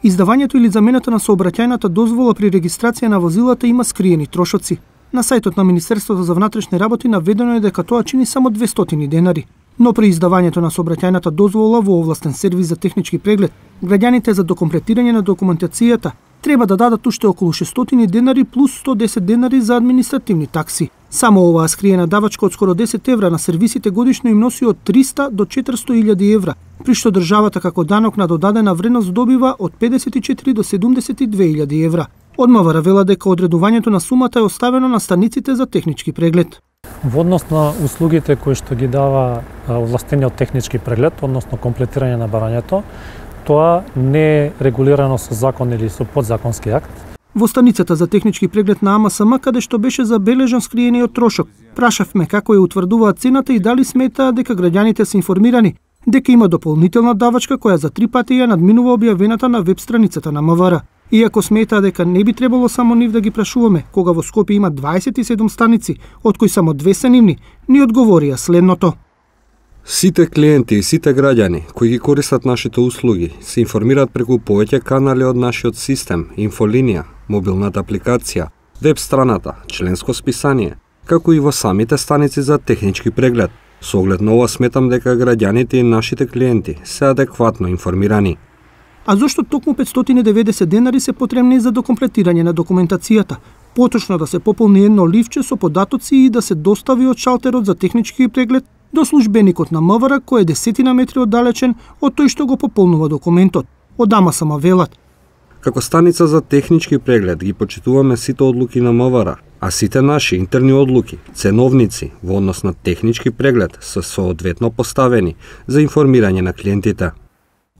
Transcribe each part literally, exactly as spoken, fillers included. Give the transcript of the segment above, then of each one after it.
Издавањето или замената на сообраќајната дозвола при регистрација на возилата има скриени трошоци. На сајтот на Министерството за внатрешни работи наведено е дека тоа чини само двестотини денари. Но при издавањето на сообраќајната дозвола во овластен сервис за технички преглед, граѓаните за докомплетирање на документацијата треба да дадат уште околу шестстотини денари плюс сто десет денари за административни такси. Само оваа скриена давачка од скоро десет евра на сервисите годишно им носи од триста до четиристо илјади евра, при што државата како данок на додадена вредност добива од педесет и четири до седумдесет и две илјади евра. Од МВР вела дека одредувањето на сумата е оставено на станиците за технички преглед. Во однос на услугите кои што ги дава овластениот технички преглед, односно комплетирање на барањето, тоа не е регулирано со закон или со подзаконски акт. Во станицата за технички преглед на АМСМ, каде што беше забележан скриениот трошок, прашавме како ја утврдуваат цената и дали сметаат дека граѓаните се информирани дека има дополнителна давачка која за три пати ја надминува објавената на веб страницата на МВР. Иако сметаа дека не би требало само нив да ги прашуваме, кога во Скопје има дваесет и седум станици, од кои само две се нивни, ни одговорија следното. Сите клиенти и сите граѓани кои ги користат нашите услуги се информираат преку повеќе канали од нашиот систем, инфолинија, мобилната апликација, веб страната, членско списание, како и во самите станици за технички преглед. Со оглед на ова сметам дека граѓаните и нашите клиенти се адекватно информирани. А зошто токму петстотини и деветдесет денари се потребни за докомплетирање на документацијата? Поточно да се пополни едно ливче со податоци и да се достави од шалтерот за технички преглед до службеникот на МВР кој е десетина метри оддалечен од тој што го пополнува документот. Од АМСМ велат. Како станица за технички преглед ги почитуваме сите одлуки на МВР, а сите наши интерни одлуки, ценовници во однос на технички преглед се соодветно поставени за информирање на клиентите.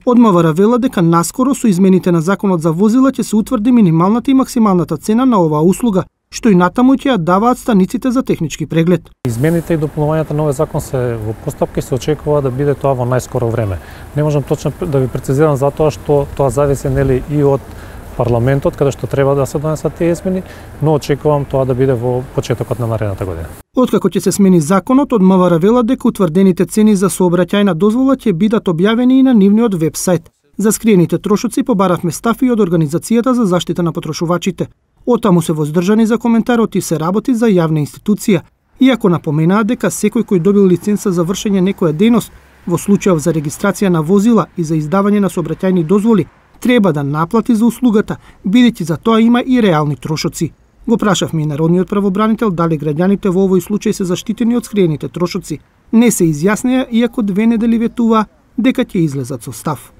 Од МВР вела дека наскоро со измените на законот за возила ќе се утврди минималната и максималната цена на оваа услуга, што и натаму ќе ја даваат станиците за технички преглед. Измените и дополнувањата на овој закон се во постапка и се очекува да биде тоа во најскоро време. Не можам точно да ви прецизирам затоа што тоа зависи нели и од парламентот каде што треба да се донесат тие измени, но очекувам тоа да биде во почетокот на наредната година. Откако ќе се смени законот, од МВР вела дека утврдените цени за сообраќајна дозвола ќе бидат објавени и на нивниот веб-сајт. За скриените трошоци побаравме став и од Организацијата за заштита на потрошувачите. Отаму се воздржани за коментарот и се работи за јавна институција, иако напоменаа дека секој кој добил лиценца за вршење некоја дејност, во случајов за регистрација на возила и за издавање на сообраќајни дозволи, треба да наплати за услугата, бидејќи за тоа има и реални трошоци. Го прашавме и народниот правобранител дали граѓаните во овој случај се заштитени од скриените трошоци. Не се изјаснеа, иако две недели ветуваа дека ќе излезат со став.